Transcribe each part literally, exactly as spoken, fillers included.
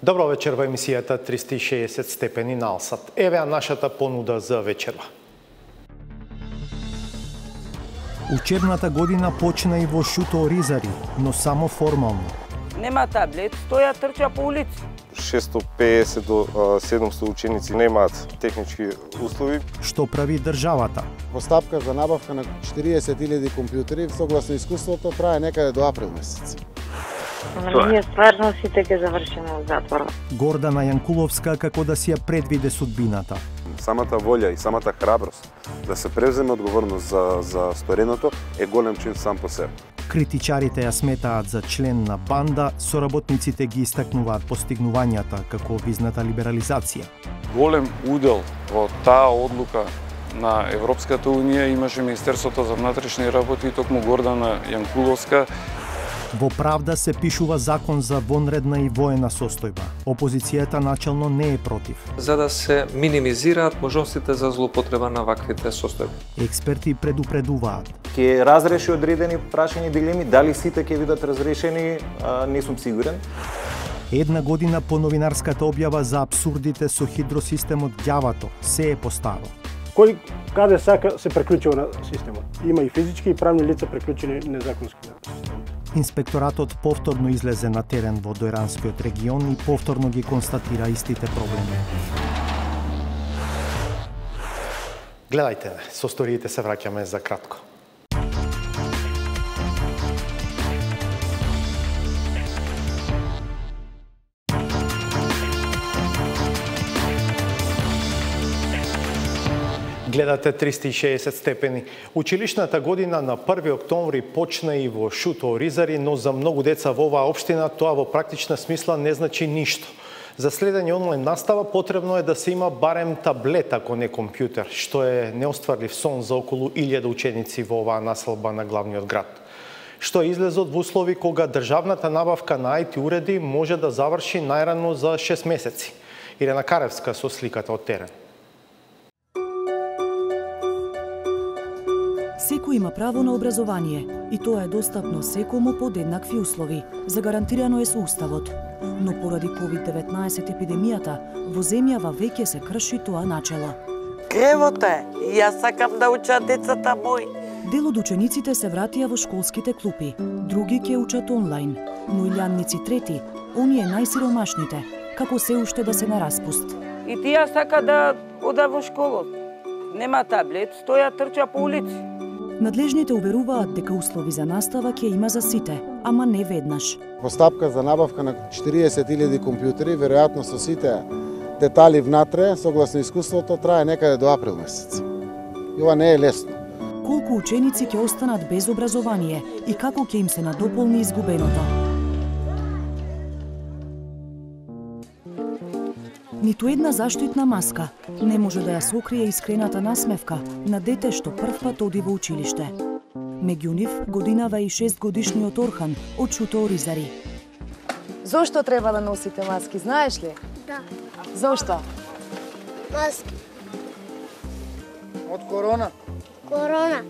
Добро вечер во емисијата триста и шеесет степени на Алсат. Еве ја нашата понуда за вечерва. Учебната година почна и во Шуто Оризари, но само формално. Нема таблет, стоја трча по улици. шестоста и педесет до седумстотини ученици немаат технички услови. Што прави државата? Постапка за набавка на четириесет илјади компјутери согласно искуството трае некаде до април месец. Ние стварно сите ќе завршиме во затвор. Гордана Јанкуловска како да си ја предвиде судбината. Самата волја и самата храброст да се превземе одговорност за, за стореното е голем чин сам по себе. Критичарите ја сметаат за член на банда, соработниците ги истакнуваат постигнувањата како визната либерализација. Голем удел во таа одлука на Европската унија имаше Министерството за внатрешни работи и токму Гордана Јанкуловска. Во Правда се пишува закон за вонредна и воена состојба. Опозицијата начелно не е против. За да се минимизираат можностите за злоупотреба на ваквите состојби. Експерти предупредуваат. Ќе разреши одредени прашања дилеми, дали сите ќе бидат разрешени, а, не сум сигурен. Една година по новинарската објава за абсурдите со хидросистемот ѓавато се е постаро. Кој каде сака се преклучува на системот. Има и физички и правни лица преклучени незаконски на системот. Инспекторатот повторно излезе на терен во Дојранскиот регион и повторно ги констатира истите проблеми. Гледајте не, со сториите се враќаме за кратко. Гледате триста и шеесет степени. Училишната година на први октомври почна и во Шуто Оризари, но за многу деца во оваа општина тоа во практична смисла не значи ништо. За следење онлайн настава потребно е да се има барем таблет, ако не компјутер, што е неостварлив сон за околу илјада ученици во оваа населба на главниот град. Што е излезот во услови кога државната набавка на ај ти уреди може да заврши најрано за шест месеци. Ирена Каревска со сликата од терен. Секој има право на образование и тоа е достапно секому под еднакви услови. Загарантирано е со Уставот. Но поради ковид деветнаесет епидемијата, во земјава веќе се крши тоа начело. Кревото е, јас сакам да учат децата мои. Дел од учениците се вратија во школските клупи, други ќе учат онлайн, но илјадници трети, оние најсиромашните, како се уште да се на распуст. И тие сака да ода во школот. Нема таблет, стоја трча по улици. Надлежните уверуваат дека услови за настава ќе има за сите, ама не веднаш. Постапка за набавка на четириесет илјади компјутери, веројатно со сите детали внатре, согласно искуството, трае некаде до април месец. И ова не е лесно. Колку ученици ќе останат без образование и како ќе им се надополни изгубеното? Ниту една заштитна маска не може да ја сокрие искрената насмевка на дете што првпат оди во училиште. Меѓу нив годинава и шестгодишниот Орхан од Шуто Оризари. Зошто треба да носите маски, знаеш ли? Да. Зошто? Маски. Од корона. Корона.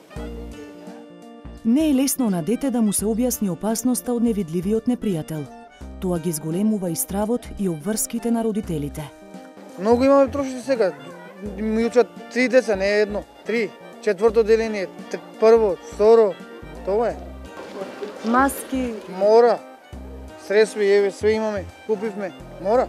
Не е лесно на дете да му се објасни опасноста од невидливиот непријател. Тоа ги зголемува и стравот и обврските на родителите. Многу имаме трошици сега. Ми учат три деца, не едно. Три. Четврто деление. Прво, второ. Тоа е. Маски. Мора. Средства, еве, све имаме. Купивме. Мора.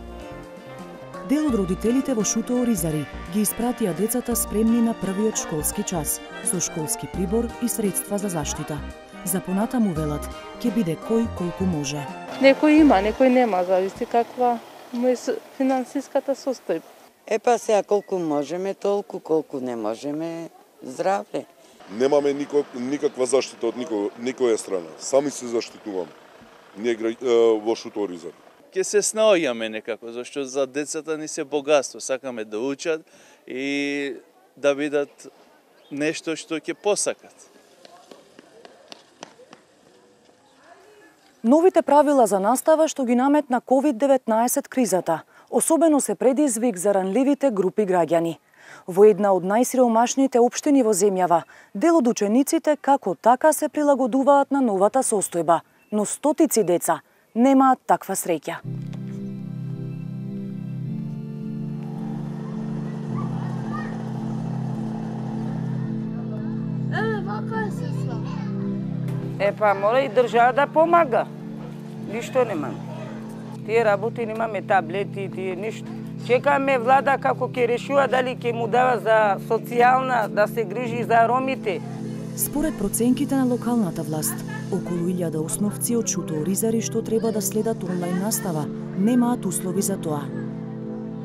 Дел од родителите во Шуто Оризари ги испратија децата спремни на првиот школски час, со школски прибор и средства за заштита. За понатаму велат, ќе биде кој колку може. Некој има, некој нема, зависи каква му е финансиската состојба. Е па сега колку можеме, толку, колку не можеме, здраве. Немаме никак, никаква заштита од никој, никоја страна. Сами се заштитуваме. Ние во Шуто Оризари. Ке се снаоѓаме некако, зашто за децата ни се богатство, сакаме да учат и да видат нешто што ќе посакат. Новите правила за настава што ги наметна ковид деветнаесет кризата, особено се предизвик за ранливите групи граѓани. Во една од најсиромашните општини во земјава, дел од учениците како така се прилагодуваат на новата состојба, но стотици деца немаат таква среќа. Е, па мора и држава да помага. Ништо немаме. Тие работи немаме, таблети, тие ништо. Чекаме влада како ќе решува дали ќе му дава за социјална, да се грижи за ромите. Според проценките на локалната власт, околу илјада основци од шутооризари што треба да следат онлайн настава, немаат услови за тоа.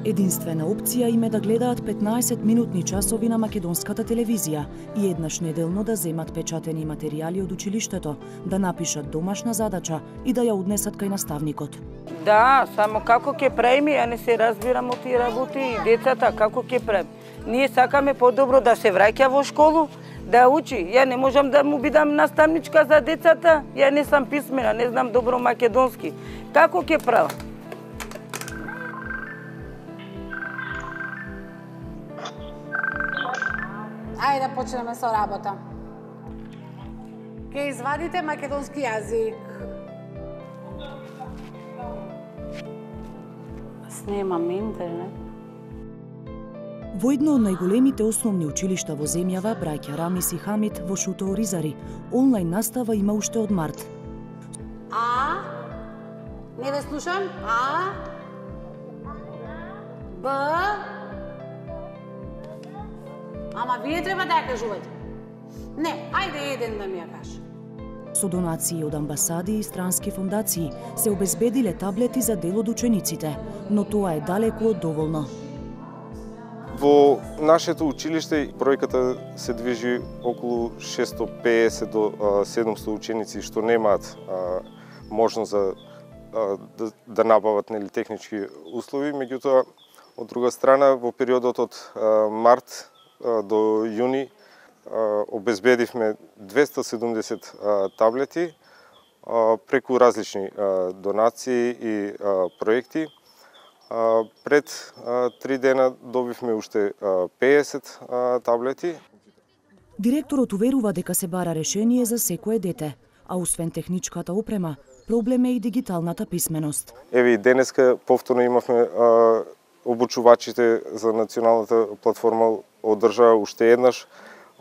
Единствена опција им е да гледаат петнаесет минутни часови на македонската телевизија и еднаш неделно да земат печатени материјали од училиштето, да напишат домашна задача и да ја однесат кај наставникот. Да, само како ќе правиме, ја не се разбирам од тие работи и децата како ќе правиме. Ние сакаме подобро да се враќа во школу, да учи. Ја не можам да му бидам наставничка за децата, ја не сам писмена, не знам добро македонски. Како ќе правам? Ајде да почнеме со работа. Ке извадите македонски јазик. Снимам интернет. Во едно од најголемите основни училишта во земјава, браќа Рамис и Хамид во Шутооризари, онлайн настава има уште од март. А? Не ве слушам? А? Б? Ама вие треба да ја кажувате. Не, ајде еден да ми ја каже. Со донации од амбасади и странски фондации се обезбедиле таблети за дел од учениците, но тоа е далеку од доволно. Во нашето училиште бројката се движи околу шестстотини и педесет до седумстотини ученици што немаат а, можност за а, да, да набават нели технички услови, меѓутоа од друга страна во периодот од а, март а, до јуни а, обезбедивме двеста и седумдесет а, таблети а, преку различни а, донации и а, проекти. А, пред а, три дена добивме уште а, педесет а, таблети. Директорот уверува дека се бара решение за секое дете, а освен техничката опрема, проблем е и дигиталната писменост. Еве и денеска повторно имавме а, обучувачите за националната платформа одржаа уште еднаш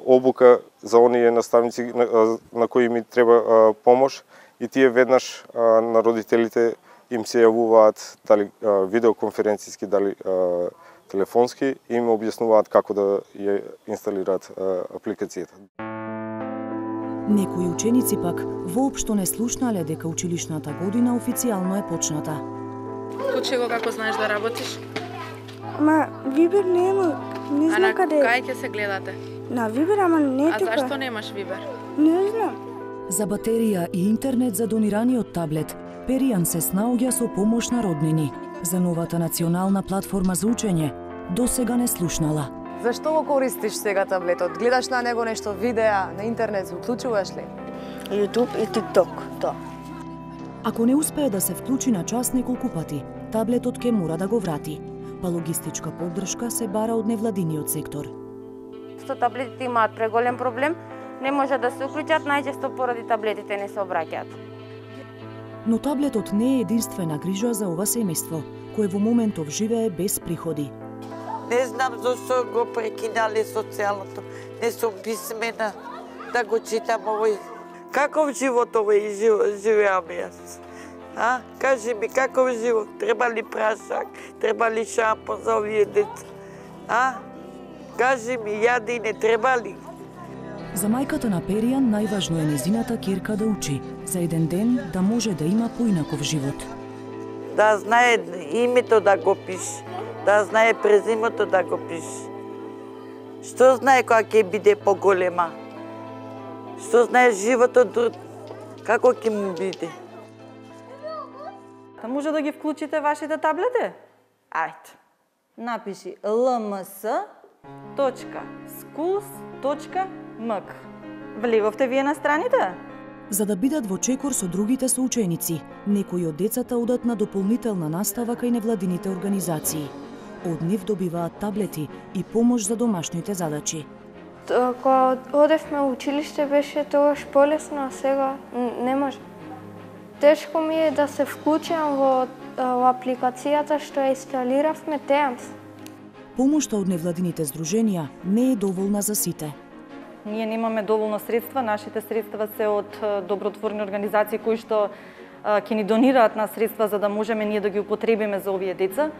обука за оние наставници на, на кои ми треба а, помош и тие веднаш а, на родителите им се јавуваат дали а, видеоконференцијски, дали а, телефонски и им објаснуваат како да ја инсталираат а, апликацијата. Некои ученици пак воопшто не слушнале дека училишната година официјално е почната. Учи го како знаеш да работиш? Ама Вибер нема, не знам каде. А на кај ќе се гледате? На Вибер, ама не а тука. А зашто немаш Вибер? Не знам. За батерија и интернет за донираниот таблет, Перијан се снаоѓа со помош на роднини. За новата национална платформа за учење, досега не слушнала. Зашто го користиш сега таблетот? Гледаш на него нешто видеа, на интернет се уклучуваш ли? YouTube и TikTok, тоа. Ако не успее да се вклучи на час неколку пати, таблетот ќе мора да го врати. Па логистичка поддршка се бара од невладиниот сектор. Што таблетите имаат преголем проблем, не може да се уклучат, најчесто поради таблетите не се обраќаат. Но таблетот не е единствена грижа за ова семејство, кое во моментов живее без приходи. Не знам зашто го прекинале социјалното. Не сум писмена да го читам овој. Каков живот овој живеам јас? А? Кажи ми, каков живот? Треба ли прашак? Треба ли шампон за овие деца? А? Кажи ми, јади не треба ли? За мајката на Перијан најважно е незината ќерка да учи, за еден ден да може да има поинаков живот. Да знае името да го пише, да знае презимето да го пише. Што знае кога ќе биде поголема? Што знае животот, како ќе му биде? Да може да ги вклучите вашите таблети? Ајде. Напиши ел ем ес точка скулс точка ем к. Влеговте вие на страните? За да бидат во чекор со другите соученици, некои од децата одат на дополнителна настава кај невладините организации. Од нив добиваат таблети и помош за домашните задачи. Кога одевме во училиште беше тогаш полесно, а сега не може. Тешко ми е да се вклучам во, во апликацијата што ја инсталиравме Теамс. Помошта од невладините здруженија не е доволна за сите. ние немаме доволно средства, нашите средства се од добротворни организации кои што ќе ни донираат на средства за да можеме ние да ги употребиме за овие деца.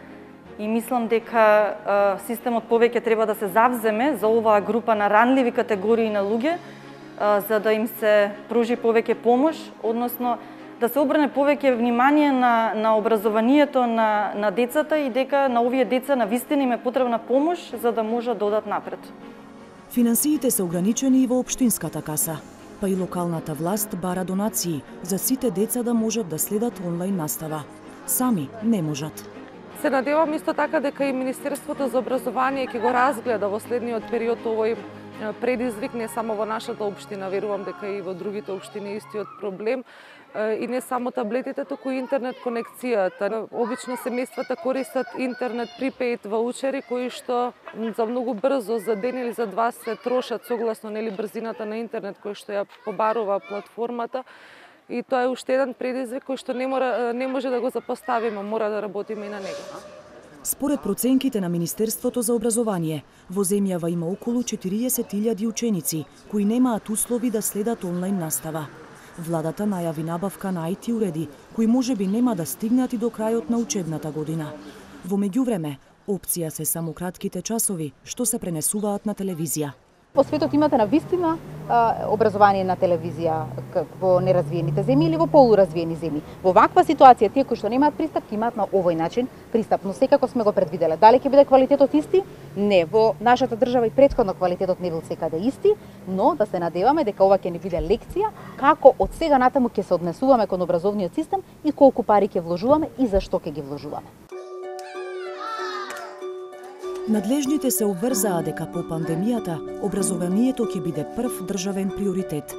И мислам дека системот повеќе треба да се завземе за оваа група на ранливи категории на луѓе, за да им се пружи повеќе помош, односно да се обрне повеќе внимание на, на образованието на, на децата и дека на овие деца на вистина им е потребна помош за да можат да одат напред. Финансиите се ограничени и во општинската каса, па и локалната власт бара донации за сите деца да можат да следат онлайн настава. Сами не можат. Се надевам исто така дека и Министерството за образование ќе го разгледа во следниот период овој предизвик не само во нашата општина, верувам дека и во другите општини истиот проблем. И не само таблетите, туку и интернет конекцијата. Обично семејствата користат интернет припејд ваучери кои што за многу брзо, за ден или за два се трошат согласно нели брзината на интернет кој што ја побарува платформата. И тоа е уште еден предизвик кој што не мора не може да го запоставиме, мора да работиме и на него. Според проценките на Министерството за образование, во земјава има околу четириесет илјади ученици кои немаат услови да следат онлайн настава. Владата најави набавка на ај ти уреди, кои можеби нема да стигнат и до крајот на учебната година. Во меѓувреме, опција се само кратките часови, што се пренесуваат на телевизија. Во светот имате на вистина образование на телевизија во неразвиените земји или во полуразвиени земји. Во ваква ситуација, тие кои што немаат пристап, ќе имаат на овој начин пристап, но секако сме го предвиделе. Дали ќе биде квалитетот исти? Не, во нашата држава и претходно квалитетот не бил секаде исти, но да се надеваме дека ова ќе ни биде лекција како од сега натаму ќе се однесуваме кон образовниот систем и колку пари ќе вложуваме и зашто ќе ги вложуваме. Надлежните се обврзаа дека по пандемијата образованието ќе биде прв државен приоритет.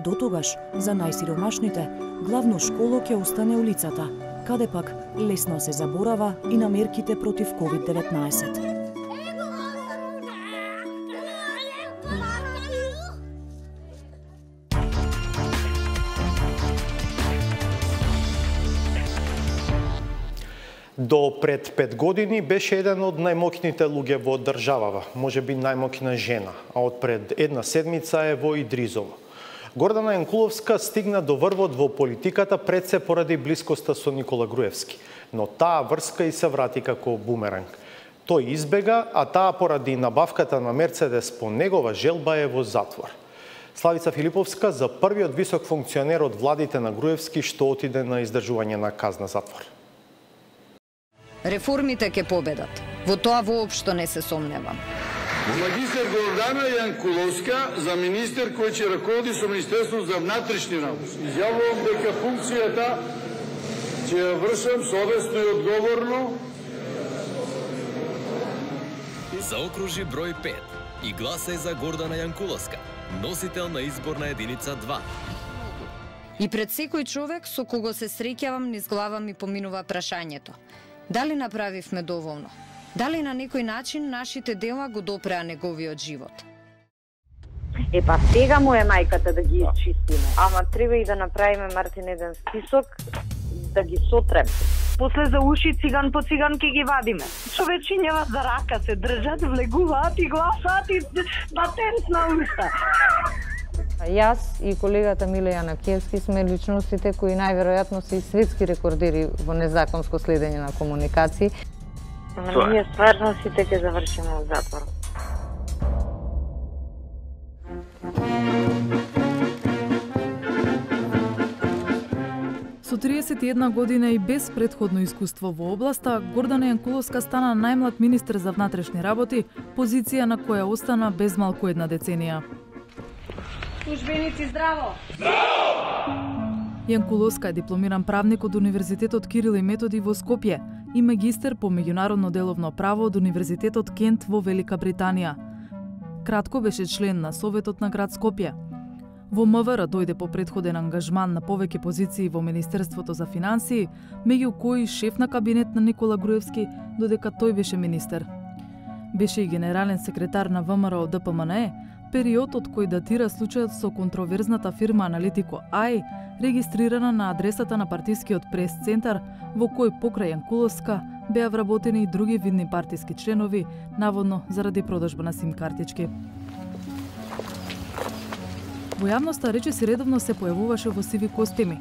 До тогаш, за најсиромашните, главно школо ќе остане улицата, каде пак лесно се заборава и на мерките против ковид деветнаесет. До пред пет години беше еден од најмоќните луѓе во државава, можеби најмоќна жена, а од пред една седмица е во Идризово. Гордана Јанкуловска стигна до врвот во политиката пред се поради блискоста со Никола Груевски, но таа врска и се врати како бумеранг. Тој избега, а таа поради набавката на Мерцедес по негова желба е во затвор. Славица Филиповска за првиот висок функционер од владите на Груевски што отиде на издржување на казна затвор. Реформите ќе победат. Во тоа воопшто не се сомневам. Магистер Гордана Јанкуловска за министер кој ќе раководи со Министерството за внатрешни работи. Изјавувам дека функцијата ќе ја вршам совесно и одговорно. Заокружи број пет и гласај за Гордана Јанкуловска, носител на изборна единица два. И пред секој човек со кого се среќавам низ глава ми поминува прашањето: дали направивме доволно? Дали на некој начин нашите дела го допреа неговиот живот? Е, па сега му е мајката да ги изчистиме. Ама треба и да направиме, Мартин, еден список да ги сотрем. После за уши циган по циган ќе ги вадиме. Човечињава за рака се држат, влегуваат и гласаат и батенс на уста. Јас и колегата Миле Јанакиевски сме личностите кои најверојатно се и светски рекордери во незаконско следење на комуникации. Ама ние стварно сите ќе завршиме во затвор. Со триесет и една година и без претходно искуство во областа, Гордана Јанкуловска стана најмлад министер за внатрешни работи, позиција на која остана без малку една деценија. Службеници, здраво! Здраво! Јанкуловска е дипломиран правник од Универзитетот Кирил и Методи во Скопје и магистер по меѓународно деловно право од Универзитетот Кент во Велика Британија. Кратко беше член на Советот на град Скопје. Во МВР дојде по претходен ангажман на повеќе позиции во Министерството за финансии, меѓу кои шеф на кабинет на Никола Груевски, додека тој беше министер. Беше и генерален секретар на ВМРО Д П М Н Е, период од кој датира случајот со контроверзната фирма Аналитико Ај, регистрирана на адресата на партискиот прес-центар, во кој покрај Јанкуловска беа вработени и други видни партиски членови, наводно заради продажба на сим картички. Во јавноста речиси редовно се појавуваше во сиви костими.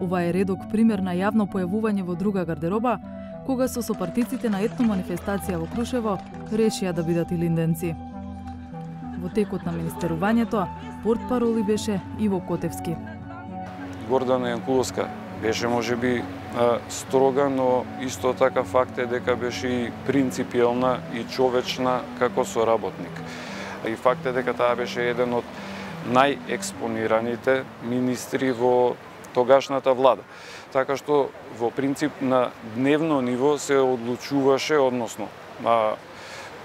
Ова е редок пример на јавно појавување во друга гардероба, кога со сопартиците на етно манифестација во Крушево решија да бидат илинденци. Во текот на министерувањето, портпароли беше Иво Котевски. Гордана Јанкуловска беше можеби строга, но исто така факт е дека беше и принципиелна и човечна како соработник. И факт е дека таа беше еден од најекспонираните министри во тогашната влада. Така што во принцип на дневно ниво се одлучуваше, односно а,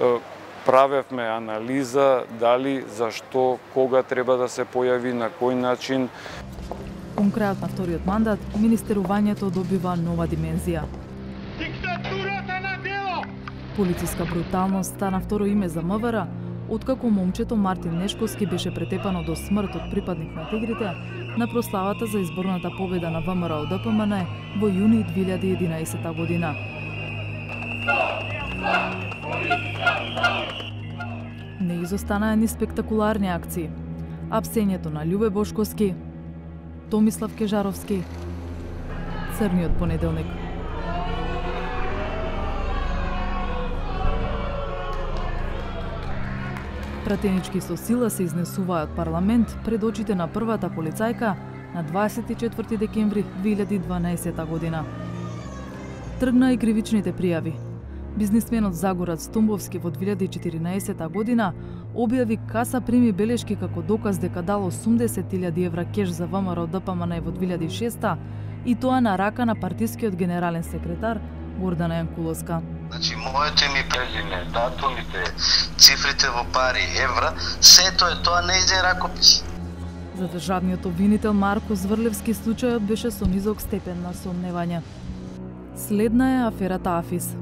а, правевме анализа дали, зашто, кога треба да се појави, на кој начин. Кон крајот на вториот мандат, министерувањето добива нова димензија. Диктатурата на дело! Полициска бруталност стана второ име за МВР, откако момчето Мартин Нешковски беше претепано до смрт од припадник на Тигрите на прославата за изборната победа на ВМРО Д П М Н во јуни две илјади и единаесета година. Не изостанаа ни спектакуларни акции. Апсењето на Љубе Бошковски, Томислав Кежаровски, Црниот понеделник. Пратенички со сила се изнесуваа од парламент пред очите на првата полицајка на дваесет и четврти декември две илјади и дванаесета година. Тргна и кривичните пријави. Бизнисменот Загорат Стумбовски во две илјади и четиринаесета година објави каса прими белешки како доказ дека дал осумдесет илјади евра кеш за ВМРО Д П М Н во две илјади и шеста и тоа на рака на партискиот генерален секретар Гордана Јанкуловска. Значи, моето име и презиме, датумите, цифрите во пари, евра, сето е тоа нејзин ракопис. За државниот обвинител Марко Зврлевски случајот беше со низок степен на сомневање. Следна е аферата Афис.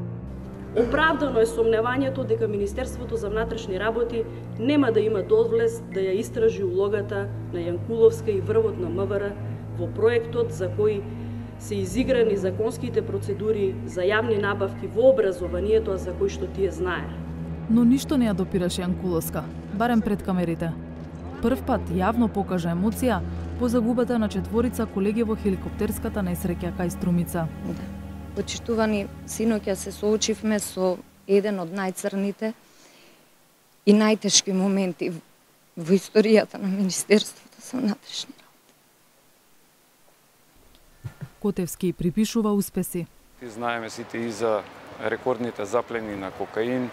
Оправдано е сомневањето дека Министерството за внатрешни работи нема да има дозволес да ја истражи улогата на Јанкуловска и врвот на М В Р во проектот за кој се изиграни законските процедури за јавни набавки во образованието, за кои што тие знае. Но ништо не ја допираше Јанкуловска, барем пред камерите. Прв пат јавно покажа емоција по загубата на четворица колеги во хеликоптерската несреќа кај Струмица. Почитувани, синоќа се соочивме со еден од најцрните и најтешки моменти во историјата на Министерството за внатрешни работи. Котевски припишува успеси. Знаеме сите и за рекордните заплени на кокаин,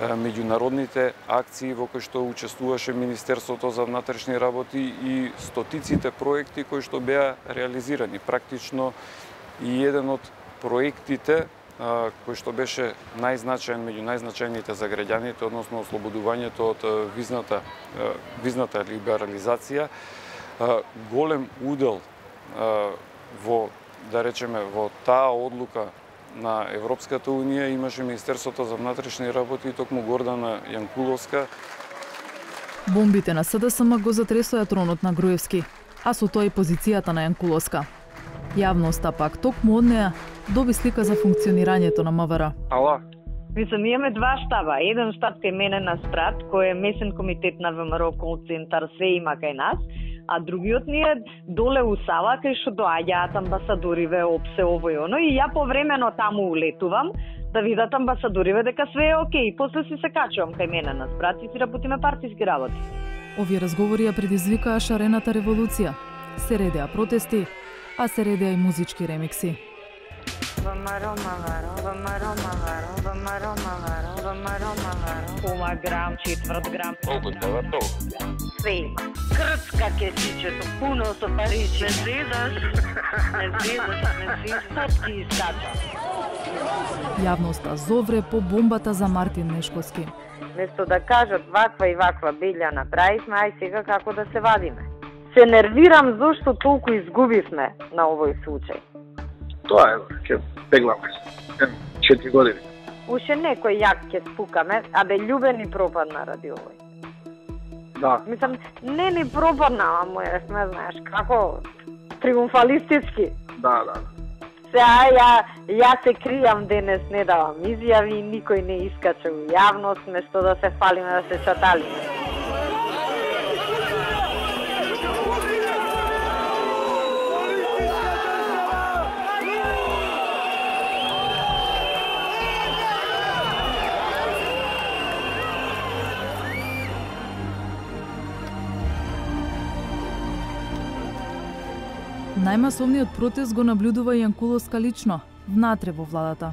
меѓународните акции во кои што учествуваше Министерството за внатрешни работи и стотиците проекти кои што беа реализирани. Практично и еден од проектите кој што беше најзначаен меѓу најзначајните за граѓаните, односно ослободувањето од визната визната либерализација, голем удел во, да речеме, во таа одлука на Европската Унија имаше Министерството за внатрешни работи и токму Гордана Јанкуловска. Бомбите на С Д С М го затресоа тронот на Груевски, а со тоа и позицијата на Јанкуловска. Јавноста пак токму од неа доби слика за функционирањето на М В Р. Ала? Мислам, имаме два штаба. Еден штаб кај мене на Спрат, кој е месен комитет на ВМРО кол центар, се има кај нас, а другиот ни е доле у Сава, кај што доаѓаат амбасадориве, опсе, ово и оно, и ја повремено таму улетувам да видат амбасадориве дека све е окей. После си се качувам кај мене на Спрат и си работиме партиски работи. Овие разговори ја предизвикаа шарената револуција. Се редеа протести, а се редеа и музички ремикси. ВМРО, МВР, ВМРО, МВР, ВМРО, МВР, ВМРО, МВР, пола грам, четврт грам. Колку треба толку? Све има. Крцка кесичето, пуно со паричи. Не зезаш, не зезаш, не зезаш, фотки искача. Јавноста зовре по бомбата за Мартин Нешковски. Место да кажат ваква и ваква билја направивме, ај сега како да се вадиме. Се нервирам зашто толку изгубивме на овој случај. Тоа е, ќе пегламе се. четири години. Уште некој јак ќе спукаме, а бе Љубе ни пропадна ради овој. Да. Мислам, не ни пропадна, ама не знаеш како триумфалистички. Да, да. Сега ја, ја се кријам денес, не давам изјави, никој не искача у јавност, место да се фалиме, да се чаталиме. Најмасовниот протест го наблюдува Јанкуловска лично, внатре во владата.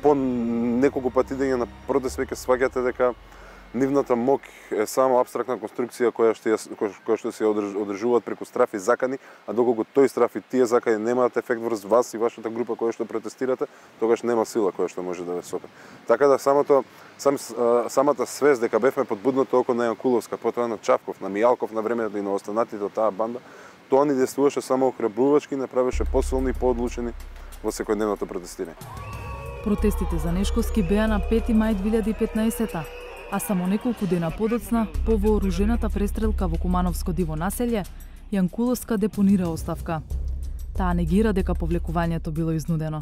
По неколку пати идење на протест веќе сваќате дека нивната мок е само апстрактна конструкција која што која што се одржуваат преку страф и закани, а доколку тој страф и тие закани немаат ефект врз вас и вашата група која што протестирате, тогаш нема сила која што може да ве сопе. Така да самото сам, самата свест дека бевме под будното око на Јанкуловска, потоа на Чавков, на Мијалков на времето и на останатите од таа банда, тоа ни действуваше само охрабрувачки, направеше посилни и поодлучени во секојдневното протестирање. Протестите за Нешковски беа на пети мај две илјади и петнаесета, а само неколку дена подоцна, по вооружената престрелка во Кумановско диво населје, Јанкуловска депонира оставка. Таа негира дека повлекувањето било изнудено.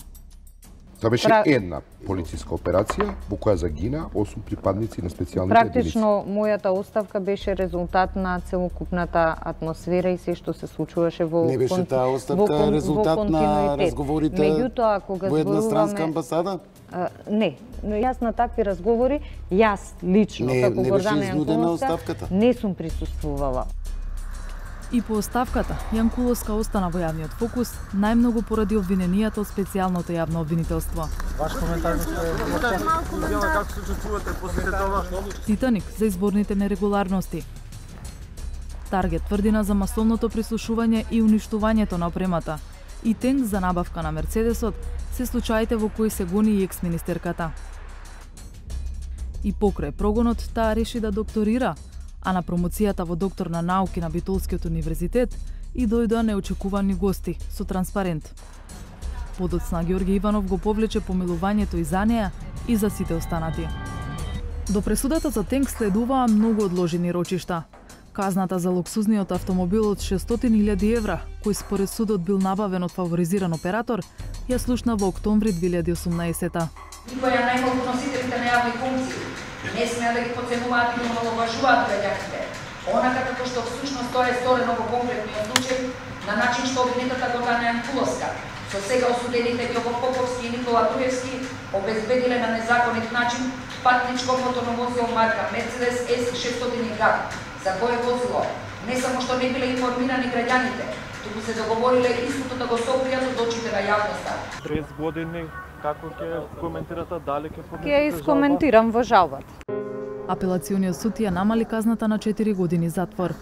Тоа беше Пра... една полициска операција во која загина осум припадници на специјалните единици. Практично, мојата оставка беше резултат на целокупната атмосфера и се што се случуваше во Не беше таа оставка во, резултат во на разговорите Меѓутоа, кога во едностранска зборуваме... амбасада? А, не, но јас на такви разговори, јас лично, не, како не Гордана Јанкуловска, не сум присуствувала. И по оставката, Јанкуловска остана во јавниот фокус, најмногу поради обвиненијата од специјалното јавно обвинителство. Ваш коментар како се чувствувате после тоа? Титаник за изборните нерегуларности. Таргет тврдина за масовното прислушување и уништувањето на опремата. И тенк за набавка на Мерцедесот се случаите во кои се гони и екс-министерката. И покрај прогонот, таа реши да докторира, а на промоцијата во доктор на науки на Битолскиот универзитет и дојдоа неочекувани гости со транспарент. Подоцна Ѓорги Иванов го повлече помилувањето и за неа и за сите останати. До пресудата за тенк следуваа многу одложени рочишта. Казната за луксузниот автомобил од шестстотини илјади евра, кој според судот бил набавен од фаворизиран оператор, ја слушна во октомври две илјади и осумнаесета. Никоја најмалку носителите на јавни функции не смеа да ги подценуваат и омаловажуваат граѓаните. Онака како што всушност тоа е сторено во конкретниот случај, на начин што обвинетата Гордана Јанкуловска со сега осудените Ѓоко Поповски и Никола Груевски обезбедиле на незаконит начин патничко моторно возило марка Мерцедес С шестстотини Г, за кое возило не само што не биле информирани граѓаните, туку се договориле истото да го сокријат од очите на јавноста. тридесет години, како ќе коментирате, дали ќе поднесете? Ќе искоментирам во жалбата. Апелациониот суд ја намали казната на четири години затвор.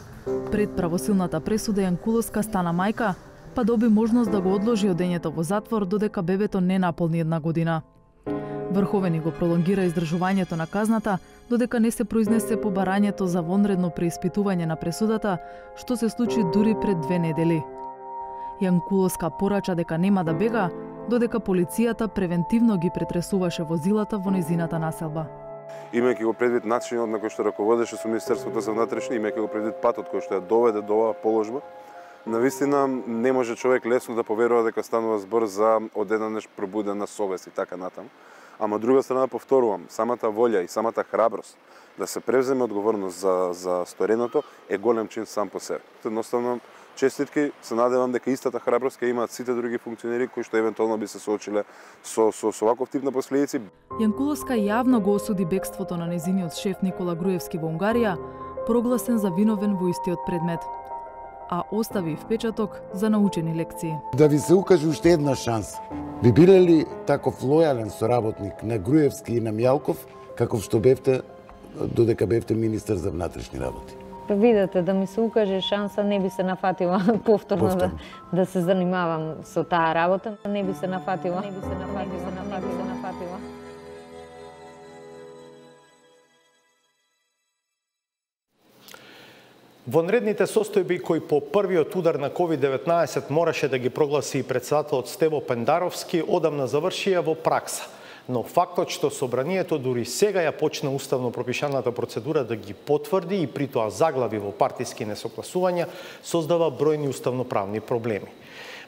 Пред правосилната пресуда Јанкуловска стана мајка, па доби можност да го одложи одењето во затвор додека бебето не наполни една година. Врховени го пролонгира издржувањето на казната, додека не се произнесе по барањето за вонредно преиспитување на пресудата, што се случи дури пред две недели. Јанкуловска порача дека нема да бега, додека полицијата превентивно ги претресуваше возилата во незината населба. Имајќи го предвид начинот на кој што раководеше со Министерството за внатрешни, имајќи го предвид патот кој што ја доведе до оваа положба, навистина не може човек лесно да поверува дека станува збор за одеднаш пробудена совест и така натаму. Ама од друга страна повторувам, самата волја и самата храброст да се превземе одговорност за за стореното е голем чин сам по себе. Едноставно честитки, се надевам дека истата храброст ќе имаат сите други функционери кои што евентуално би се соочиле со со, со ваков тип на последици. Јанкуловска јавно го осуди бегството на незиниот шеф Никола Груевски во Унгарија, прогласен за виновен во истиот предмет, а остави впечаток за научени лекции. Да ви се укаже уште една шанса. Би биле ли таков лојален соработник на Груевски и на Мијалков, каков што бевте додека бевте министер за внатрешни работи? Видете, да ми се укаже шанса, не би се нафатила повторно, повторно. Да, да се занимавам со таа работа. Не би се нафатила. Не би се нафатила. Не би се нафатила. Не би се нафатила. Вонредните состојби кои по првиот удар на ковид деветнаесет мораше да ги прогласи и председателот Стево Пендаровски, одамна завршија во пракса. Но фактот што собранието дури сега ја почна уставно пропишаната процедура да ги потврди и при тоа заглави во партиски несогласувања, создава бројни уставноправни проблеми.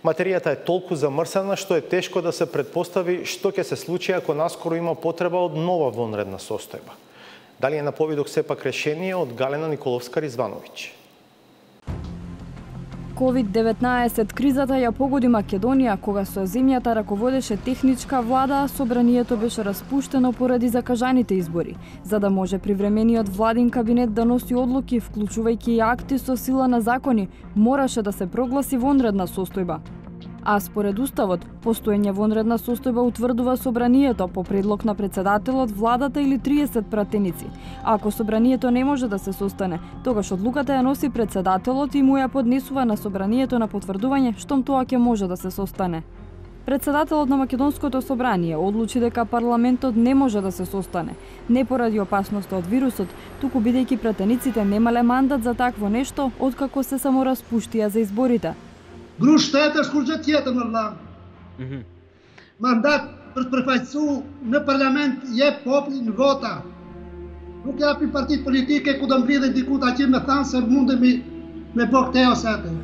Материјата е толку замрсена што е тешко да се предпостави што ќе се случи ако наскоро има потреба од нова вонредна состојба. Дали е на повидок сепак решение од Галена Николовска-Ризвановиќ? ковид деветнаесет кризата ја погоди Македонија, кога со земјата раководеше техничка влада, собранието беше распуштено поради закажаните избори, за да може привремениот владин кабинет да носи одлуки, вклучувајќи и акти со сила на закони, мораше да се прогласи вонредна состојба. А според Уставот, постоење вонредна состојба утврдува собранието по предлог на председателот, владата или триесет пратеници. А ако собранието не може да се состане, тогаш одлуката ја носи председателот и му ја поднесува на собранието на потврдување штом тоа ќе може да се состане. Председателот на Македонското собрание одлучи дека парламентот не може да се состане, не поради опасноста од вирусот, туку бидејќи пратениците немале мандат за такво нешто откако се самораспуштија за изборите. Gruștetă scurgătietă mă la. Mandat per prefaițu në parlament je poplin vota. Nuk japi partit politike ku do mbledhin diku ta që me thanë se mundemi me bë këtë ose atë.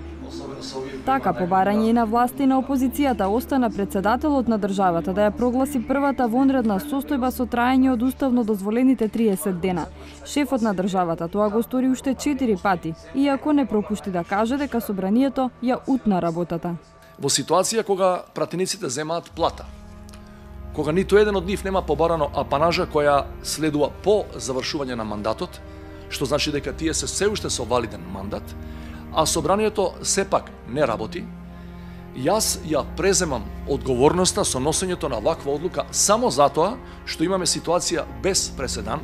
Така, по барање и на власти и на опозицијата, остана председателот на државата да ја прогласи првата вонредна состојба со траење од уставно дозволените триесет дена. Шефот на државата тоа го стори уште четири пати, иако не пропушти да каже дека собранието ја утна работата. Во ситуација кога пратениците земаат плата, кога ниту еден од нив нема побарано апанажа која следува по завршување на мандатот, што значи дека тие се се уште со валиден мандат, а собранието сепак не работи, јас ја преземам одговорноста со носењето на ваква одлука само затоа што имаме ситуација без преседан,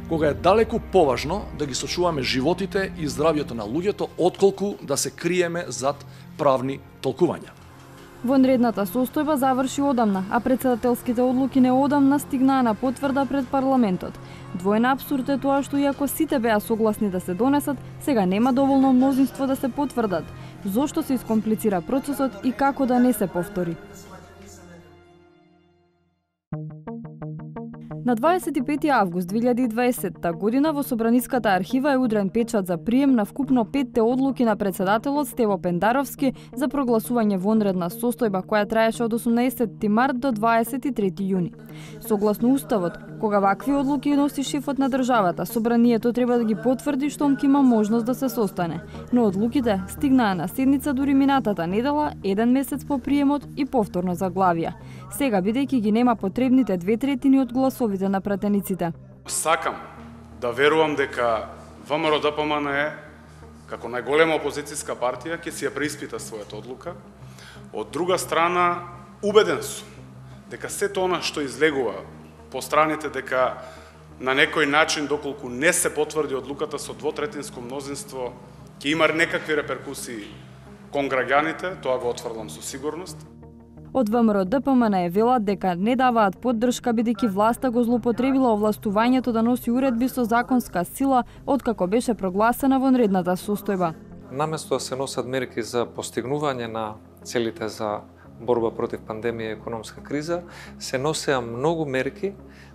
кога е далеку поважно да ги сочуваме животите и здравјето на луѓето, отколку да се криеме зад правни толкувања. Вонредната состојба заврши одамна, а председателските одлуки неодамна стигнаа на потврда пред парламентот. Двоен апсурд е тоа што иако сите беа согласни да се донесат, сега нема доволно мнозинство да се потврдат. Зошто се искомплицира процесот и како да не се повтори? На дваесет и пети август две илјади и дваесетта година во Собраниската архива е удрен печат за прием на вкупно петте одлуки на председателот Стево Пендаровски за прогласување вонредна состојба која траеше од осумнаесетти март до дваесет и трети јуни. Согласно Уставот, кога вакви одлуки носи шефот на државата, собранието треба да ги потврди штом ќе има можност да се состане. Но одлуките стигнаа на седница дури минатата недела, еден месец по приемот и повторно заглавија. Сега, бидејќи ги нема потребните две третини од гласовите на пратениците. Сакам да верувам дека ВМРО-ДПМН како најголема опозицијска партија ќе си ја преиспита својата одлука. Од друга страна, убеден сум дека сето она што излегува по страните дека на некој начин, доколку не се потврди одлуката со двотретинско мнозинство, ќе има некакви реперкусии кон граѓаните, тоа го отврлам со сигурност. Од ВМРО-ДПМН велат дека не даваат поддршка бидејќи власта го злоупотребила овластувањето да носи уредби со законска сила откако беше прогласена вонредната состојба. Наместо да се носат мерки за постигнување на целите за борба против пандемија и економска криза, се носеа многу мерки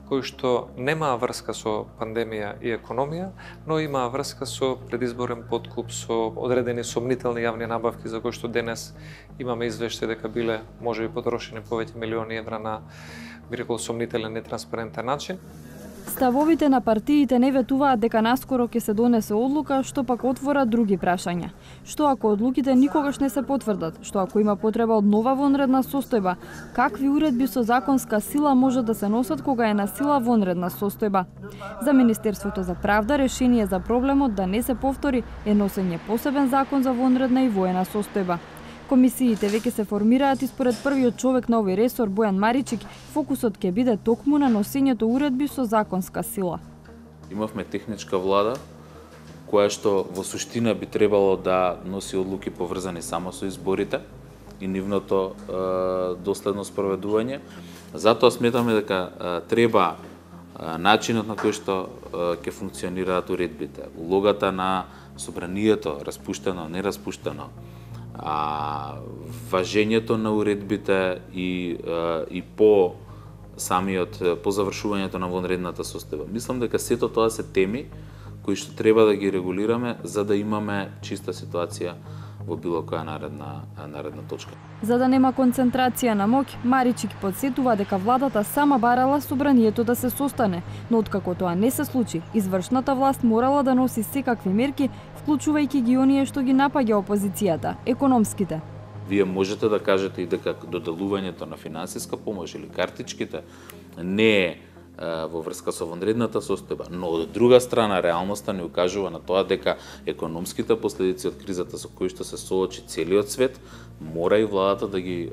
кои што немаа врска со пандемија и економија, но имаа врска со предизборен подкуп, со одредени сомнителни јавни набавки за кои што денес имаме извештај дека биле можеби потрошени повеќе милиони евра на, би рекол, сомнителен и транспарентен начин. Ставовите на партиите не ветуваат дека наскоро ќе се донесе одлука, што пак отвора други прашања. Што ако одлуките никогаш не се потврдат? Што ако има потреба од нова вонредна состојба? Какви уредби со законска сила може да се носат кога е на сила вонредна состојба? За Министерството за правда решение за проблемот да не се повтори е носење посебен закон за вонредна и воена состојба. Комисиите веќе се формираат и според првиот човек на овој ресор, Бојан Маричик, фокусот ќе биде токму на носењето уредби со законска сила. Имавме техничка влада, која што во суштина би требало да носи одлуки поврзани само со изборите и нивното е, доследно спроведување. Затоа сметаме дека е, треба е, начинот на кој што ќе функционираат уредбите, улогата на собранието, распуштено, нераспуштено, а, важењето на уредбите и, а, и по самиот, по завршувањето на вонредната состојба. Мислам дека сето тоа се теми кои што треба да ги регулираме за да имаме чиста ситуација во било која наредна наредна точка. За да нема концентрација на моќ, Маричик подсетува дека владата сама барала собранието да се состане, но откако тоа не се случи, извршната власт морала да носи секакви мерки, вклучувајќи ги оние што ги напаѓа опозицијата, економските. Вие можете да кажете и дека доделувањето на финансиска помош или картичките не е во врска со вонредната состојба, но од друга страна реалноста ни укажува на тоа дека економските последици од кризата со кои што се соочи целиот свет, мора и владата да ги е,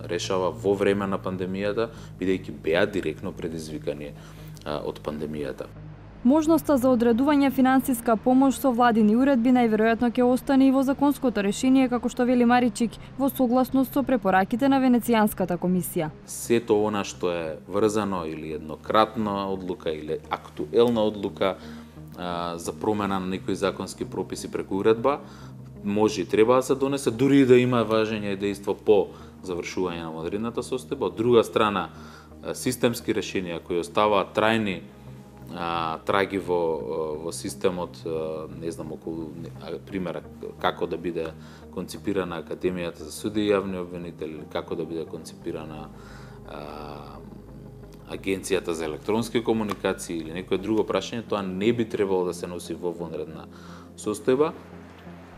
решава во време на пандемијата, бидејќи беа директно предизвикани е, од пандемијата. Можноста за одредување финансиска помош со владини уредби најверојатно ќе остане и во законското решение, како што вели Маричик, во согласност со препораките на Венецијанската комисија. Сето она што е врзано или еднократна одлука или актуелна одлука а, за промена на некои законски прописи преку уредба, може и треба да се донесе, дури и да има важење и дејство по завршување на вонредната состојба. Од друга страна, системски решенија кои оставаат трајни а, траги во, во системот, а, не знам, околу примера како да биде концепирана Академијата за суди и јавни обвинители, или како да биде концепирана а, Агенцијата за електронски комуникации или некое друго прашање, тоа не би требало да се носи во вонредна состојба.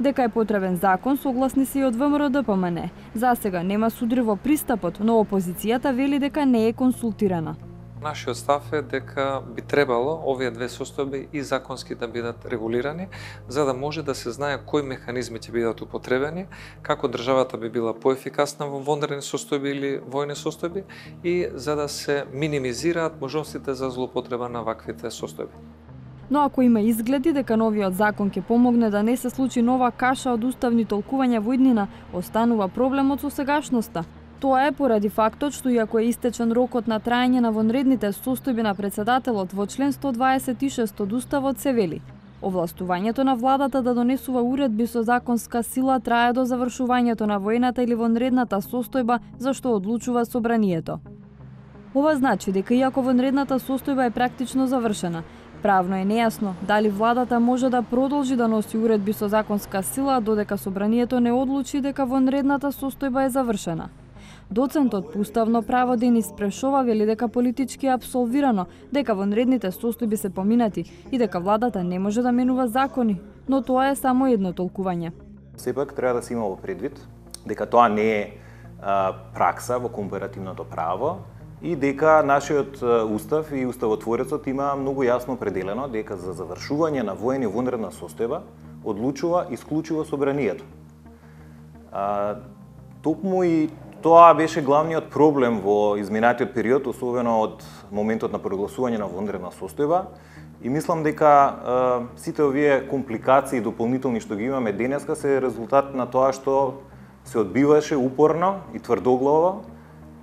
Дека е потребен закон, согласни се и од ВМРО-ДПМН. За сега нема судри во пристапот, но опозицијата вели дека не е консултирана. Нашиот став е дека би требало овие две состојби и законски да бидат регулирани, за да може да се знае кои механизми ќе бидат употребени, како државата би била поефикасна во вонредни состојби или војни состојби и за да се минимизираат можностите за злоупотреба на ваквите состојби. Но ако има изгледи дека новиот закон ќе помогне да не се случи нова каша од уставни толкувања во иднина, останува проблемот со сегашноста. Тоа е поради фактот што иако е истечен рокот на траење на вонредните состојби на председателот во член сто дваесет и шест од Уставот се вели: овластувањето на владата да донесува уредби со законска сила трае до завршувањето на војната или вонредната состојба за што одлучува собранието. Ова значи дека иако вонредната состојба е практично завршена, правно е нејасно дали владата може да продолжи да носи уредби со законска сила додека собранието не одлучи дека вонредната состојба е завршена. Доцентот по уставно право Денис Прешова вели дека политички е апсолвирано, дека вонредните состојби се поминати и дека владата не може да менува закони, но тоа е само едно толкување. Сепак треба да се има во предвид дека тоа не е а, пракса во компаративното право и дека нашиот устав и уставотворецот има многу јасно определено дека за завршување на војна и вонредна состојба одлучува исклучиво собранието. А, токму и тоа беше главниот проблем во изминатиот период, особено од моментот на прогласување на вонредна состојба. И мислам дека е, сите овие компликации и дополнителни што ги имаме денеска се резултат на тоа што се одбиваше упорно и тврдоглаво,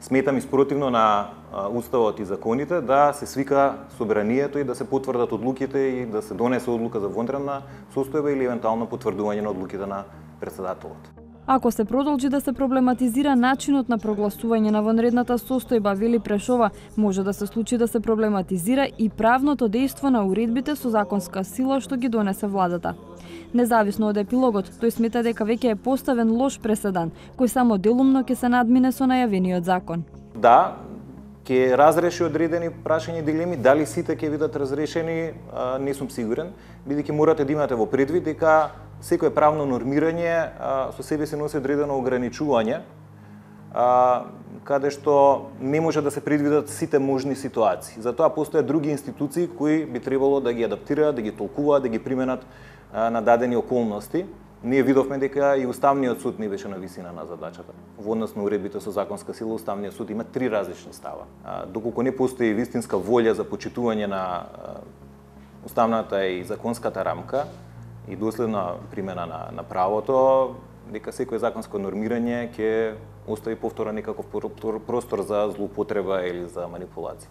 сметам и спротивно на Уставот и законите, да се свика собранието и да се потврдат одлуките и да се донесе одлука за вонредна состојба или евентуално потврдување на одлуките на председателот. Ако се продолжи да се проблематизира начинот на прогласување на вонредната состојба, вели Прешова, може да се случи да се проблематизира и правното дејство на уредбите со законска сила што ги донесе владата. Независно од епилогот, тој смета дека веќе е поставен лош преседан, кој само делумно ќе се надмине со најавениот закон. Да, ќе разреши одредени прашања и дилеми, дали сите ќе бидат разрешени, не сум сигурен, бидејќи морате да имате во предвид дека секое правно нормирање а, со себе се носи одредено ограничување, а, каде што не може да се предвидат сите можни ситуации. Затоа постојат други институции кои би требало да ги адаптираат, да ги толкуваат, да ги применат а, на дадени околности. Ние видовме дека и Уставниот суд не беше на висина на задачата. Во однос на уредбите со законска сила, Уставниот суд има три различни става. А, доколку не постои вистинска волја за почитување на а, уставната и законската рамка, и доследна примена на, на правото, дека секој законско нормирање ќе остави повторно некаков простор за злоупотреба или за манипулација.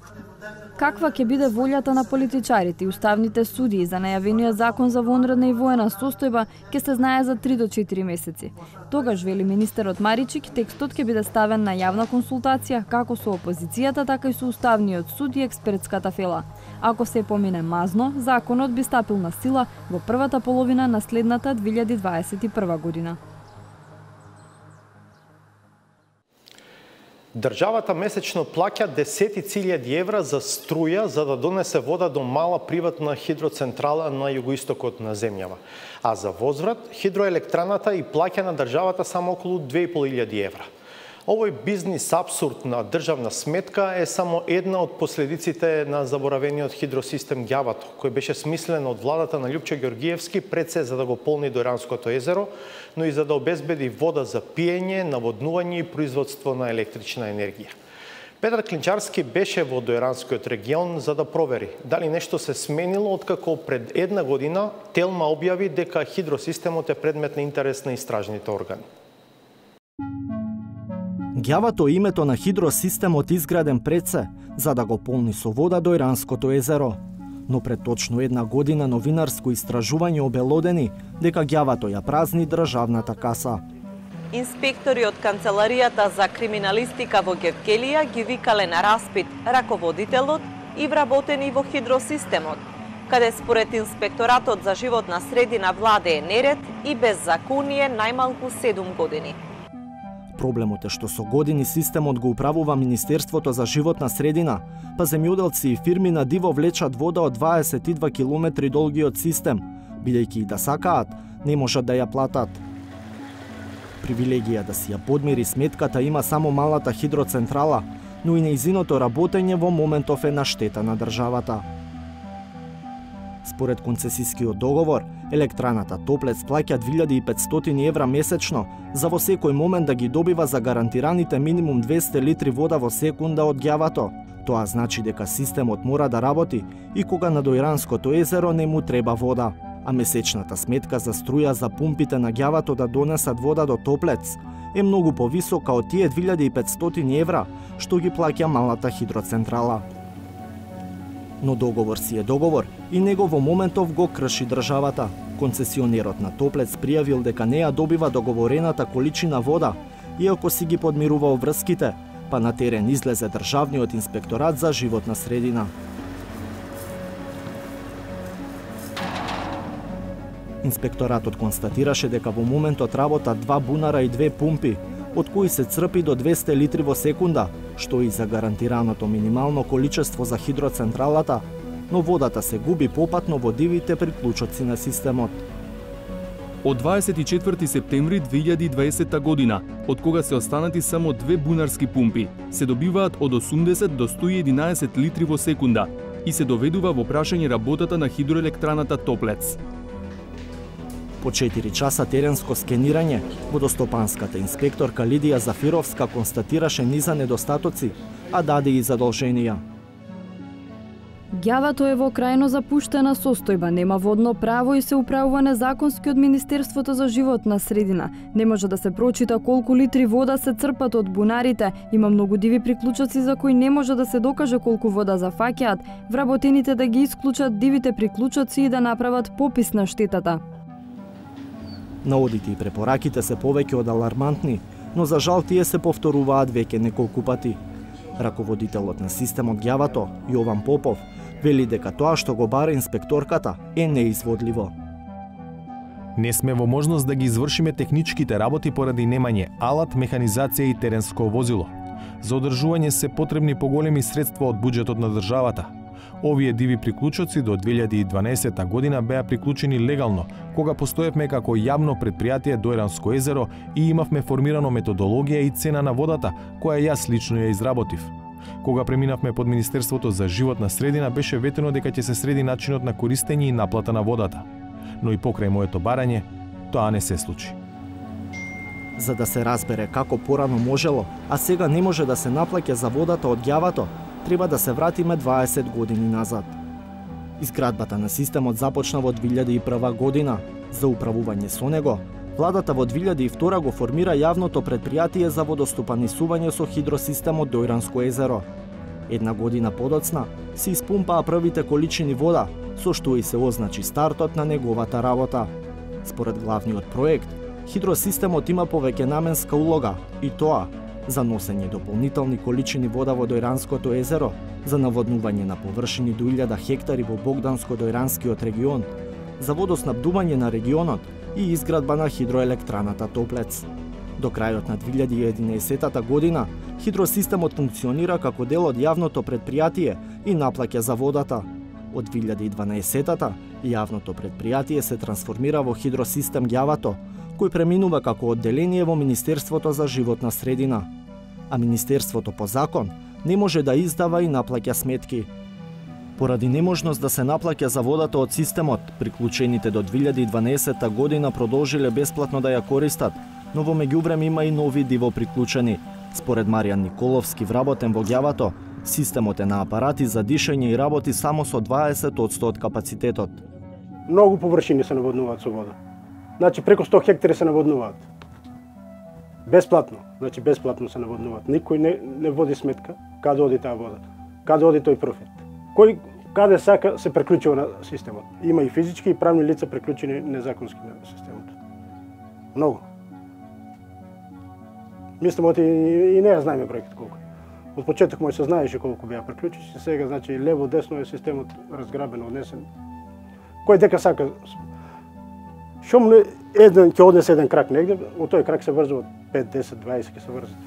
Каква ќе биде волјата на политичарите и уставните судии за најавениот закон за вонредна и воена состојба ќе се знае за три до четири месеци. Тогаш, вели министерот Маричик, текстот ќе биде ставен на јавна консултација како со опозицијата, така и со Уставниот суд и експертската фела. Ако се помине мазно, законот би стапил на сила во првата половина на следната две илјади дваесет и прва година. Државата месечно плаќа десетици илјади евра за струја за да донесе вода до мала приватна хидроцентрала на југоистокот на земјава. А за возврат, хидроелектраната и плаќа на државата само околу две и пол илјади евра. Овој бизнис абсурд на државна сметка е само една од последиците на заборавениот хидросистем Ѓавато, кој беше смислен од владата на Љупчо Ѓоргиевски пред се за да го полни Дојранското езеро, но и за да обезбеди вода за пиење, наводнување и производство на електрична енергија. Петар Клинчарски беше во Дојранскиот регион за да провери дали нешто се сменило откако пред една година Телма објави дека хидросистемот е предмет на интерес на истражните органи. Ѓавато е името на хидросистемот изграден пред се за да го полни со вода Дојранското езеро. Но пред точно една година новинарско истражување обелодени дека Ѓавато ја празни државната каса. Инспектори од Канцеларијата за криминалистика во Гевкелија ги викале на распит раководителот и вработени во хидросистемот, каде според Инспекторатот за животна средина владее неред и беззаконие најмалку седум години. Проблемот е што со години системот го управува Министерството за животна средина, па земјоделци и фирми на диво влечат вода од дваесет и два километри долгиот систем, бидејќи и да сакаат, не можат да ја платат. Привилегија да си ја подмири сметката има само малата хидроцентрала, но и нејзиното работење во моментов е на штета на државата. Според концесискиот договор, електраната Топлец плаќа две илјади и петстотини евра месечно за во секој момент да ги добива за гарантираните минимум двесте литри вода во секунда од Ѓавато. Тоа значи дека системот мора да работи и кога на Дојранското езеро не му треба вода, а месечната сметка за струја за пумпите на Ѓавато да донесат вода до Топлец е многу повисока од тие две илјади и петстотини евра што ги плаќа малата хидроцентрала. Но договор си е договор и него во моментов го крши државата. Концесионерот на Топлец пријавил дека не ја добива договорената количина вода, иако си ги подмирувал врските, па на терен излезе Државниот инспекторат за животна средина. Инспекторатот констатираше дека во моментот работат два бунара и две пумпи, од кои се црпи до двесте литри во секунда, што и за гарантираното минимално количество за хидроцентралата, но водата се губи попатно во дивите приклучоци на системот. Од дваесет и четврти септември две илјади и дваесетта година, од кога се останати само две бунарски пумпи, се добиваат од осумдесет до сто и единаесет литри во секунда и се доведува во прашање работата на хидроелектраната Топлец. По четири часа теренско скенирање, водостопанската инспекторка Лидија Зафировска констатираше низа недостатоци, а даде и задолженија. Ѓавато е во крајно запуштена состојба, нема водно право и се управува незаконски од Министерството за животна средина. Не може да се прочита колку литри вода се црпат од бунарите, има многу диви приклучоци за кои не може да се докаже колку вода зафаќаат, вработените да ги исклучат дивите приклучоци и да направат попис на штетата. Наодите и препораките се повеќе од алармантни, но за жал тие се повторуваат веќе неколку пати. Раководителот на системот Ѓавато, Јован Попов, вели дека тоа што го бара инспекторката е неизводливо. Не сме во можност да ги извршиме техничките работи поради немање алат, механизација и теренско возило. За одржување се потребни поголеми средства од буџетот на државата. Овие диви приклучоци до две илјади и дванаесетта година беа приклучени легално, кога постоевме како јавно предпријатие Дојранско езеро и имавме формирано методологија и цена на водата, која јас лично ја изработив. Кога преминавме под Министерството за животна средина, беше ветено дека ќе се среди начинот на користење и наплата на водата. Но и покрај моето барање, тоа не се случи. За да се разбере како порано можело, а сега не може да се наплаќа за водата од Ѓавато, треба да се вратиме дваесет години назад. Изградбата на системот започна во две илјади и прва година. За управување со него, владата во две илјади и втора го формира јавното предпријатие за водостопанисување со хидросистемот Дојранско езеро. Една година подоцна се испумпаа првите количини вода, со што и се означи стартот на неговата работа. Според главниот проект, хидросистемот има повеќенаменска улога, и тоа за носење дополнителни количини вода во Дојранското езеро, за наводнување на површини до илјада хектари во Богданско-Дојранскиот регион, за водоснабдување на регионот и изградба на хидроелектраната Топлец. До крајот на две илјади и единаесеттата година, хидросистемот функционира како дел од јавното предпријатие и наплаќа за водата. Од две илјади и дванаесетта јавното предпријатие се трансформира во хидросистем Ѓавато, кој преминува како одделение во Министерството за животна средина. А Министерството по закон не може да издава и наплаќа сметки. Поради неможност да се наплаќа за водата од системот, приклучените до две илјади и дванаесетта година продолжиле бесплатно да ја користат, но во меѓувреме има и нови диво приклучени. Според Маријан Николовски, вработен во Ѓавато, системот е на апарати за дишење и работи само со дваесет одсто од капацитетот. Многу површини се наводнуваат со вода. Значи преку сто хектари се наводнуваат. Бесплатно, значи бесплатно се наводнуваат. Никој не, не води сметка каде оди таа вода, каде оди тој профит. Кој каде сака се приклучува на системот. Има и физички и правни лица приклучени незаконски на системот. Многу. Мислам, оти и не ја знаеме бројките колку. Од почеток мој се знаеше колку беа приклучени, сега значи лево десно е системот разграбен, однесен. Кој дека сака шум еден ќе однесе еден крак негде, од тој крак се врзува пет, десет, дваесет ќе се врзат.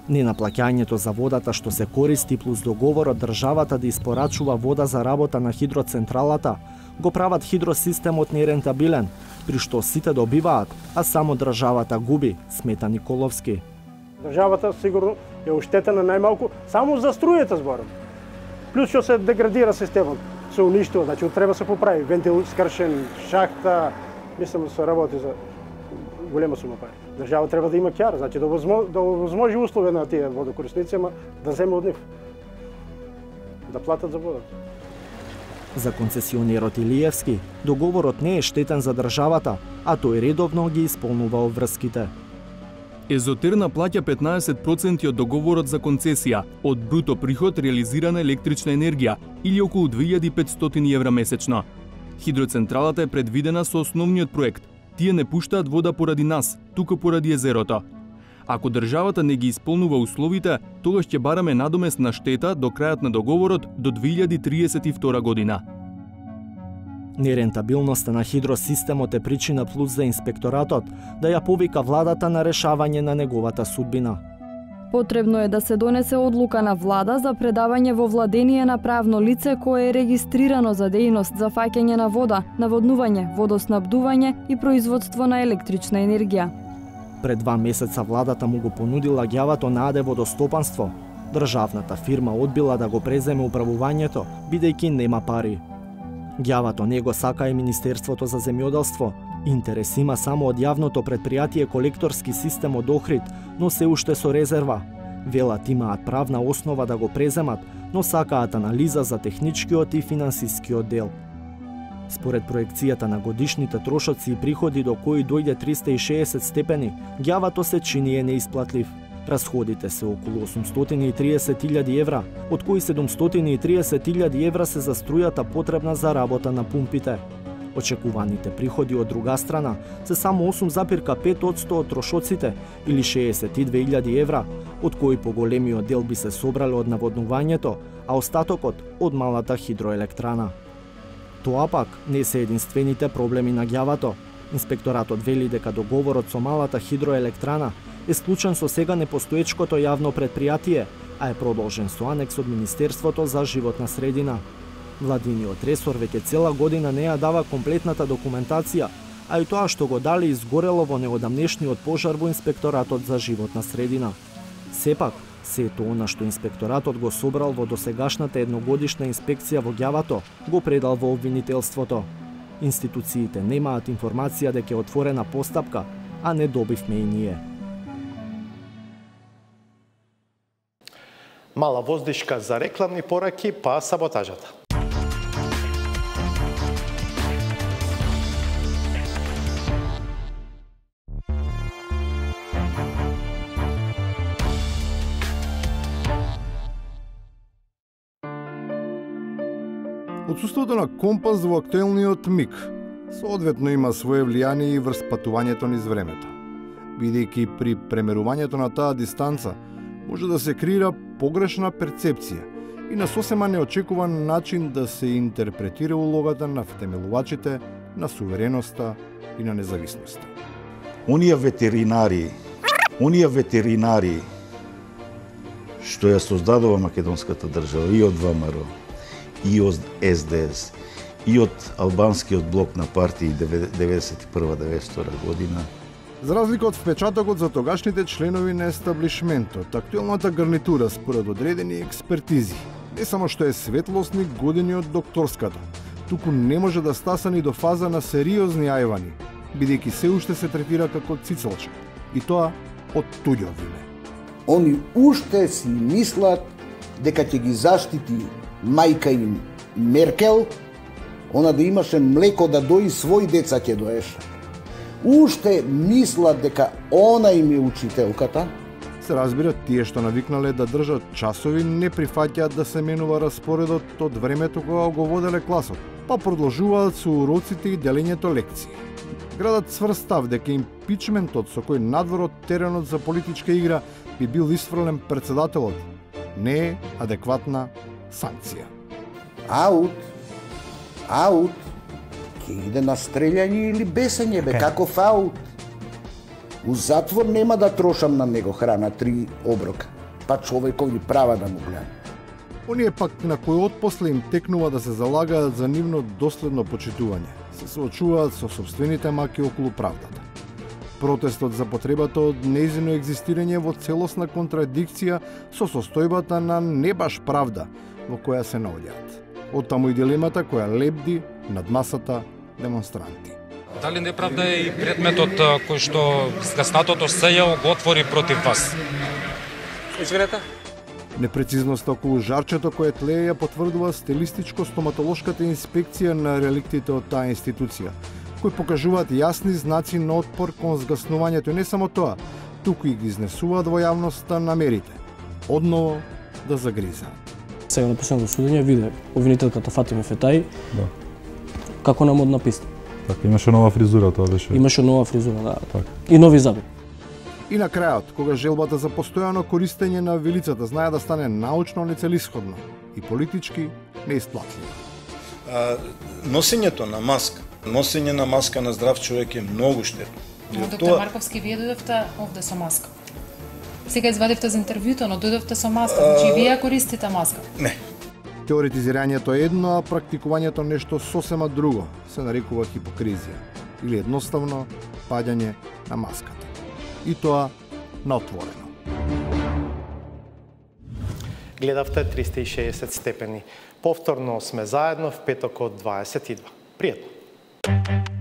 Ненаплаќањето за водата што се користи плюс договорот државата да испорачува вода за работа на хидроцентралата го прават хидросистемот нерентабилен, при што сите добиваат, а само државата губи, смета Николовски. Државата сигурно е оштетена најмалку само за струјата зборам. Плюс што се деградира системот, се уништува, значи треба се поправи, вентил скршен, шахта, мислам да се работи за голема сума пари. Држава треба да има ќар, значи да возможи услови на тие водокорисници, ама да земе од нив. Да платат за водата. За концесионерот Илиевски, договорот не е штетен за државата, а тој редовно ги исполнува обврските. Езотерна плаќа петнаесет проценти од договорот за концесија, од бруто приход реализирана електрична енергија или околу две илјади и петстотини евра месечно. Хидроцентралата е предвидена со основниот проект. Тие не пуштаат вода поради нас, туку поради езерото. Ако државата не ги исполнува условите, тогаш ќе бараме надоместна штета до крајот на договорот до две илјади и триесет и втора година. Нерентабилноста на хидросистемот е причина плюс за инспекторатот да ја повика владата на решавање на неговата судбина. Потребно е да се донесе одлука на влада за предавање во владение на правно лице кое е регистрирано за дејност за фаќање на вода, наводнување, водоснабдување и производство на електрична енергија. Пред два месеца владата му го понудила Ѓавато на АД водостопанство. Државната фирма одбила да го преземе управувањето, бидејќи нема пари. Ѓавато не го сака и Министерството за земјоделство. Интерес има само од јавното предпријатие колекторски систем од Охрид, но се уште со резерва. Велат имаат правна основа да го преземат, но сакаат анализа за техничкиот и финансискиот дел. Според проекцијата на годишните трошоци и приходи до кои дојде триста и шеесет степени, Ѓавато се чини е неисплатлив. Расходите се околу осумстотини и триесет илјади евра, од кои седумстотини и триесет илјади евра се за струјата потребна за работа на пумпите. Очекуваните приходи од друга страна се само осум зарез пет одсто од трошоците или шеесет и две илјади евра, од кои поголемиот дел би се собрале од наводнувањето, а остатокот од малата хидроелектрана. Тоа пак не се единствените проблеми на Ѓавато. Инспекторатот вели дека договорот со малата хидроелектрана е склучен со сега непостоечкото јавно предпријатие, а е продолжен со анекс од Министерството за животна средина. Владиниот ресор веќе цела година не ја дава комплетната документација, а и тоа што го дали изгорело во неодамнешниот пожар во Инспекторатот за животна средина. Сепак, сето она што инспекторатот го собрал во досегашната едногодишна инспекција во Ѓавато, го предал во обвинителството. Институциите немаат информација дека е отворена постапка, а не добивме и ние. Мала воздишка за рекламни пораки, па саботажата. Отсуството на компас во актуелниот миг соодветно има свое влијание и врз патувањето низ времето, бидејќи при премерувањето на таа дистанца може да се креира погрешна перцепција и на сосема неочекуван начин да се интерпретира улогата на втемелувачите на сувереноста и на независноста. Оние ветеринари, оние ветеринари што ја создадува македонската држава и од ВМРО, и од С Д С, и од албанскиот блок на партии деветдесет и прва до деветдесет и втора година. За разлика од впечатокот за тогашните членови на естаблишментот, актуелната гарнитура според одредени експертизи не само што е светлосни години од докторската, туку не може да стаса ни до фаза на сериозни ајвани, бидејќи се уште се третира како цицелче, и тоа од туѓо име. Они уште си мислат дека ќе ги заштити мајка им Меркел, она да имаше млеко да дои свој деца ќе доеше. Уште мислат дека она им е учителката. Се разбира, тие што навикнале да држат часови не прифаќаат да се менува распоредот од времето кога го воделе класот, па продолжуваат со уроците и делењето лекции. Градат сврстав дека импичментот со кој надвор од теренот за политичка игра би бил исфрлен председателот не е адекватна санкција. Аут, аут, ќе иде на стрелјање или бесење, бе, каков аут. У затвор нема да трошам на него храна три оброка, па човекови права да му гледам. Оние пак на кои отпосле им текнува да се залагаат за нивно доследно почитување, се соочуваат со собствените маки околу правдата. Протестот за потребата од нејзино екзистирање во целосна контрадикција со состојбата на не баш правда во која се наоѓаат. Оттаму и дилемата која лебди над масата демонстранти. Дали неправда е и предметот кој што згаснатото СЈО го отвори против вас? Извинете? Непрецизноста околу жарчето кое тлее ја потврдува стилистичко-стоматолошката инспекција на реликтите од таа институција, кои покажуваат јасни знаци на отпор кон згаснувањето и не само тоа, туку и ги изнесуваат во јавноста намерите, одново да загризаат. Сега на последното судење виде обвинителката Фатиме Фетаи, да. Како на модна писта. Така, имаше нова фризура, тоа беше. Имаше нова фризура, да. Так. И нови заби. И на крајот, кога желбата за постојано користење на вилицата знае да стане научно нецелисходно и политички неисплатливо. Носењето на маска, носење на маска на здрав човек е многу штетно. Доктор тоа... Марковски, вие дојдовте овде со маска. Сега извадивте за интервјуто, но дојдовте со маска. Значи, вие користите маска? Не. Теоретизирањето е едно, а практикувањето нешто сосема друго, се нарекува хипокризија или едноставно паѓање на маската. И тоа на отворено. Гледавте триста и шеесет степени. Повторно сме заедно в петок од дваесет и два. Пријатно!